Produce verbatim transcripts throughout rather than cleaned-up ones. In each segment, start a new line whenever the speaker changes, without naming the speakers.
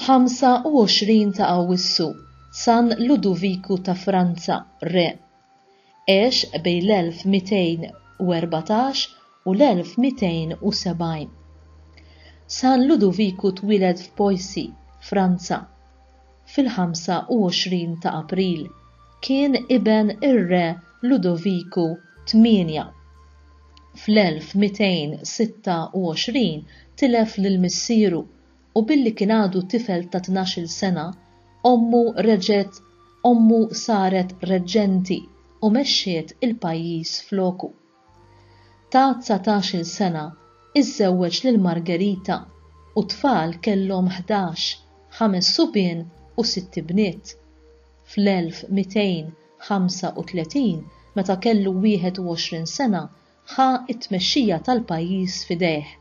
Ħamsa u għoxrin ta' Awwissu, San Ludoviku ta' Franza, Re. Għex bejn l-elf mitejn u erbatax u l-elf mitejn u sebgħin. San Ludoviku twieled f'Poissy, Franza, fil-ħamsa u għoxrin ta' April. Kien iben ir-Re Ludoviku tmienja. Fl-elf mitejn sitta u għoxrin tilef lil missieru u billi kien għadu tifel ta' tnax-il sena, ommu reġgħet ommu saret reġġenti u mexxiet il-pajjiż floku. Ta' dsatax-il sena iżżewweġ lil Margherita u tfal kellhom ħdax, ħames subien u sitt ibniet. Fl-elf mitejn ħamsa u tletin, meta kellu wieħed u għoxrin sena, ħa t-tmexxija tal-pajjiż f'idejh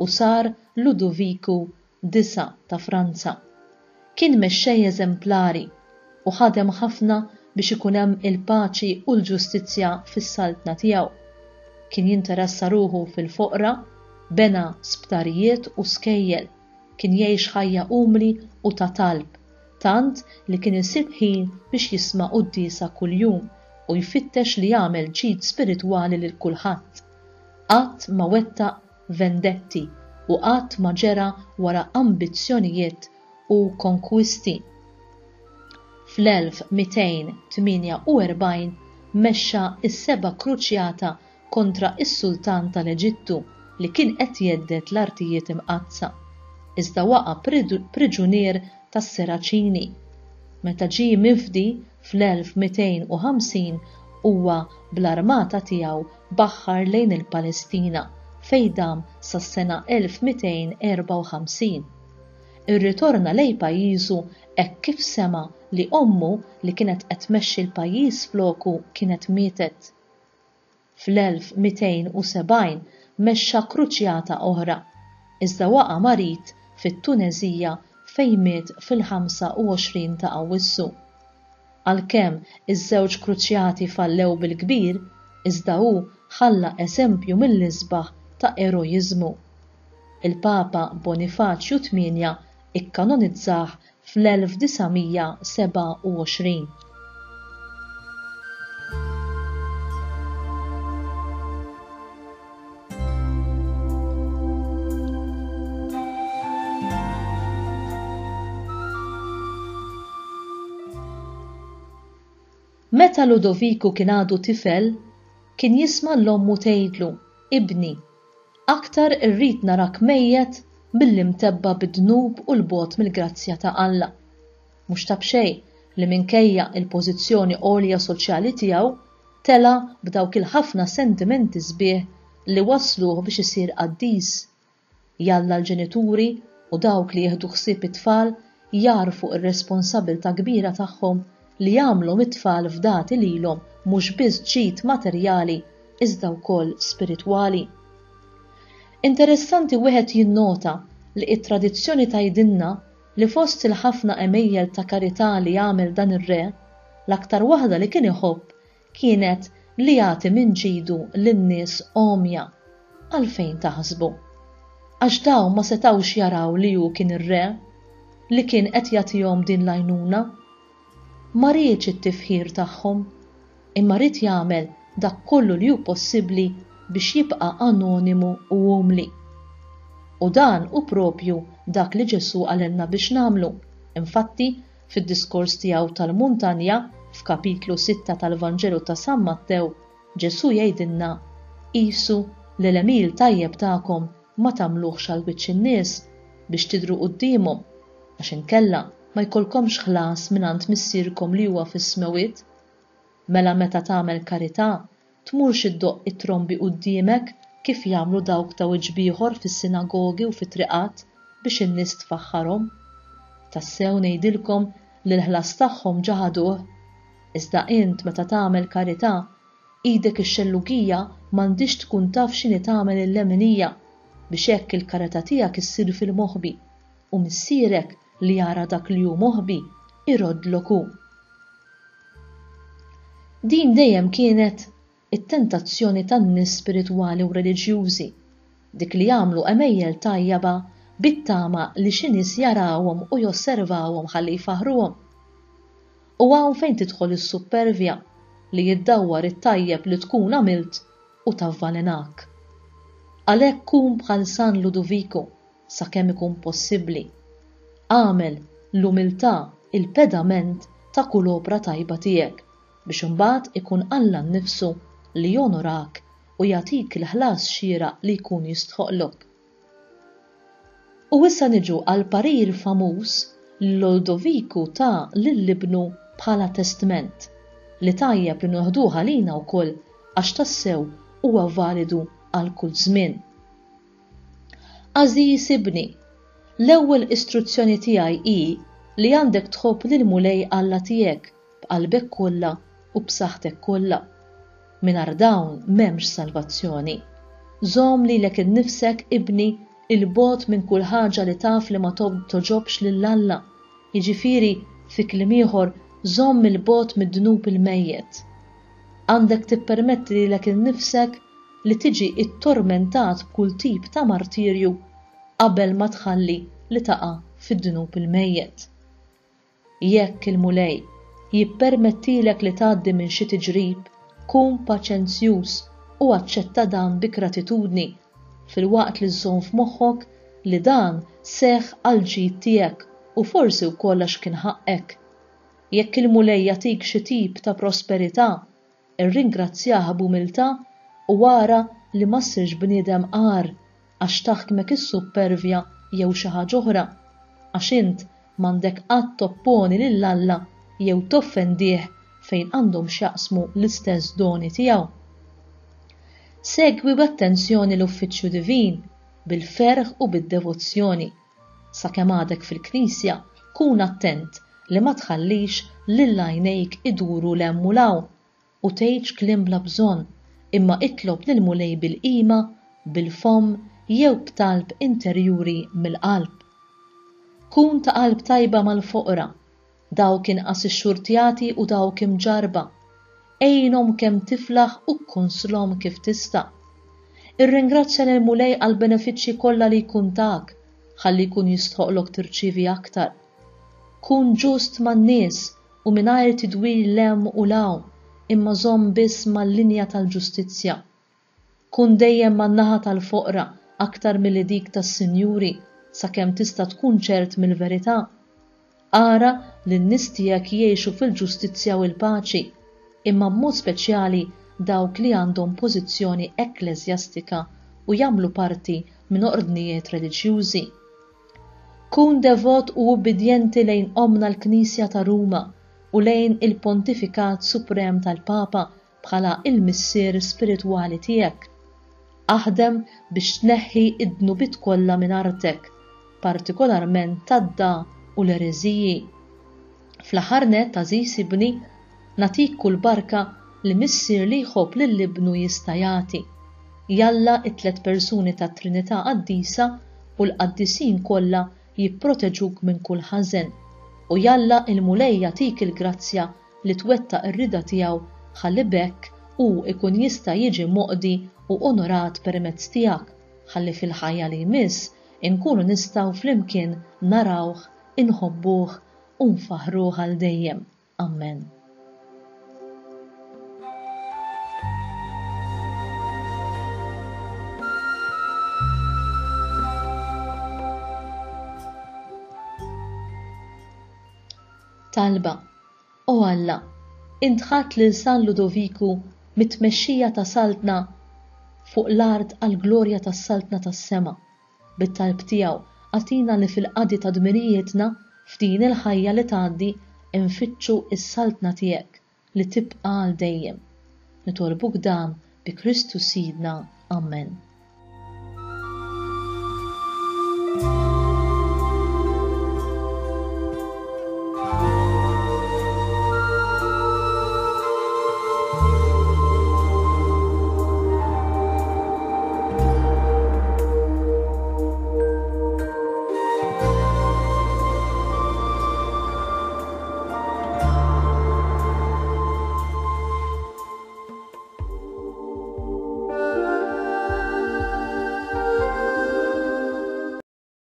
u sar Ludoviku disa' ta' Franza. Kien mexxej eżemplari u ħadem ħafna biex ikun hemm il-paċi u l-ġustizzja fis-saltna tiegħu. Kien jinteressa ruħu fil-foqra, bena sptarijiet u skejjel, kien jgħix ħajja umli u ta' talb, tant li kien isib ħin biex jisma' quddiesa kuljum u jfittex li jagħmel ġid spiritwali lil kulħadd. Qatt ma wettaq vendetti u qatt ma ġera wara ambizzjonijiet u konkwisti. Fl-elf mitejn tmienja u erbgħin mexxa s-seba' kruċjata kontra s-sultan tal-Eġittu li kien qed jhedded l-artijiet imqaddsa, iżda waqa' priġunier tas-Seraċini. Meta ġie mifdi fl-elf mitejn u ħamsin huwa bl-armata tiegħu baħħar lejn il-Palestina fejn dam sas-sena elf mitejn erba' u ħamsin. Irritorna lejn pajjiżu hekk kif sema' li ommu li kienet qed tmexxi l-pajjiż floku kienet mietet. Fl-elf mitejn u sebgħin mexxa kruċjata oħra, iżda waqa' marid fit-Tunezija fejn miet fil-ħamsa u għoxrin ta' Awwissu. Għalkemm iż-żewġ kruċjati fallew bil-kbir, iżda hu ħalla eżempju mill-isbaħ ta' eroiżmu. Il-Papa Bonifaċju tmienja ikkanonizzah fl-elf disa' mija sebgħa u għoxrin. Meta Ludoviku kien għadu tifel, kien jisma' l-ommu tgħidlu, Ibni, aktar irrid narak mejjet milli mtebba bid-dnub u l-bogħod mill-grazzja ta' Alla. Mhux ta' b'xejn li minkejja il-pożizzjoni għolja soċjali tiegħu tela' b'dawk il-ħafna sentimenti sbieħ li wasluh biex isir qaddis. Jalla l-ġenituri u dawk li jieħdu ħsieb it-tfal jarfu r-responsabilità kbira tagħhom li jagħmlu mit-tfal fdati lilhom mhux biss ġid materjali iżda wkoll spiritwali. Interessanti wieħed jinnota li t-tradizzjoni tgħidilna li fost il-ħafna għemejjel ta' karità li għamel dan ir-re, l-aktar waħda li kien iħobb kienet li jagħti minn ġidu lin-nies għomja. Għalfejn taħsbu? Għax dawn ma setgħux jaraw li hu kien ir-re li kien qed jagħtihom din l-għajnuna. Ma riedx it-tifħir tagħhom, imma ried jagħmel dak kollu li hu possibbli biex jibqa' anonimu u umli. U dan hu propju dak li Ġesù qalilna biex nagħmlu. Infatti, fid-diskors tiegħu tal-Muntanja, f'kapitlu sitta tal-Vanġelu ta' San Mattew, Ġesù jgħidilna: Qisu li l-għemil tajjeb tagħkom ma tagħmluhx għal wiċċ in-nies biex tidhru quddiemhom, għax inkella ma jkollkomx ħlas mingħand missierkom li huwa fis-smewwiet. Mela meta tagħmel karità, tmurx iddoqq it-trombi quddiemek kif jagħmlu dawk ta' wiċċ b'ieħor fis-sinagogi u fit-triqat biex in-nies tfaħħarhom. Tassew ngħidilkom li l-ħlas tagħhom ġaħaduh. Iżda int meta tagħmel karità, idek ix-xellugija m'għandix tkun taf x'inhi tagħmel il-leminija, biex hekk il-karità tiegħek issir fil-moħbi, u missierek li jara dak li hu moħbi iroddlok hu. Din dejjem kienet it-tentazzjoni tan-nies spiritwali u reliġjużi, dik li jagħmlu għemejjel tajjaba bit-tama li xi nies jarawhom u josservawhom ħalli jfaħħruhom. U hawn fejn tidħol is-suppervja li jiddawwar it-tajjeb li tkun għamilt u tavvalenak. Għalhekk kun bħal San Ludoviku sakemm ikun possibbli. Agħmel l-umiltà il-pedament ta' kull opra tajba tiegħek biex imbagħad ikun Alla nnifsu li jonorak u jagħtik il-ħlas xieraq li jkun jistħoqlok. U issa niġu għal parir famuż li Lodoviku ta lil ibnu bħala testment, li tajjeb li noħduh għalina wkoll għax tassew huwa validu għal kull żmien. Għażiż ibni, l-ewwel istruzzjoni tiegħi hi li għandek tħobb lill-Mulej Alla tiegħek b'qalbek kollha u b'saħħtek kollha. Mingħajr dawn m'hemmx salvazzjoni. Żomm lilek innifsek, ibni, 'il bogħod minn kull ħaġa li taf li ma togħġobx lil Alla. Jiġifieri, fi kliem ieħor, żomm 'il bogħod mid-dnub il-mejjet. Għandek tippermetti lilek innifsek li tiġi ttormentat b'kull tip ta' martirju qabel ma tħalli li taqa' fid-dnub il-mejjet. Jekk il-Mulej jippermettilek li tgħaddi minn xi tiġrib, kun paċenzjuż u aċċetta dan bi gratitudni, filwaqt li żżomm f'moħħok li dan seħħ għall-ġid tiegħek u forsi wkoll għax kien ħaqqek. Jekk il-Mulej jagħtik xi tip ta' prosperità, irringrazzjah b'umiltà u ara li ma ssirx bniedem agħar għax taħkmek is-suppervja jew xi ħaġa oħra, għax int m'għandek qatt topponi lil Alla jew toffendih fejn għandhom x'jaqsmu l-istess doni tiegħu. Segwi b'attenzjoni l-uffiċċju divin bil-ferħ u bid-devozzjoni. Sakemm għadek fil-knisja, kun attent li ma tħallix lil għajnejk iduru 'l hemm u 'l hawn u tgħidx kliem bla bżonn, imma itlob lill-Mulej bil-qima, bil-fomm jew b'talb interjuri mill-qalb. Kun ta' qalb tajba mal-foqra, dawk inqas ixxurtjati u dawk imġarrba. Għinhom kemm tiflaħ u kkonslhom kif tista'. Irringrazzja lill-Mulej għall-benefiċċji kollha li jkun tak, ħalli jkun jistħoqlok tirċievi aktar. Kun ġust man-nies u mingħajr tidwir 'l hemm u 'l hawn, imma żomm biss mal-linja tal-ġustizzja. Kun dejjem man-naħa tal-foqra aktar milli dik tas-sinjuri, sakemm tista' tkun ċert mill-verità. Ara li n-nies tiegħek jgħixu fil-ġustizzja u l-paċi, imma b'mod speċjali dawk li għandhom pożizzjoni ekkleżjastika u jagħmlu parti minn ordnijiet reliġjużi. Kun devot u ubbidjenti lejn Ommna l-Knisja ta' Ruma u lejn il-Pontifikat Suprem tal-Papa bħala il-Missier spiritwali tiegħek. Aħdem biex tneħħi id-dnubiet kollha minn artek, partikolarment tad-da u l-ereżiji. Fl-aħħar nett, għażiż ibni, nagħtik kull barka li missier li jħobb lil ibnu jista' jagħti. Jalla t-tliet persuni tat-Trinità Qaddisa u l-qaddisin kollha jipproteġuk minn kull ħażen, u jalla l-Mulej jagħtik il-grazzja li twettaq ir-rieda tiegħu ħalli b'hekk hu jkun jista' jiġi moqdi u onorat permezz tiegħek, ħalli fil-ħajja li jmiss inkunu nistgħu flimkien narawh, inħobbuh u nfaħħruh għal dejjem. Amen. Talba. O Alla, int ħadt lil San Ludoviku mit-tmexxija ta' saltna fuq l-art għall-glorja tas-saltna tas-sema. Bit-talb tiegħu agħtina li fil-qadi ta' dmirijietna f'din il-ħajja li tgħaddi nfittxu s-saltna tiegħek li tibqa' għal dejjem. Nitolbuk dan bi Kristu Sidna. Amen.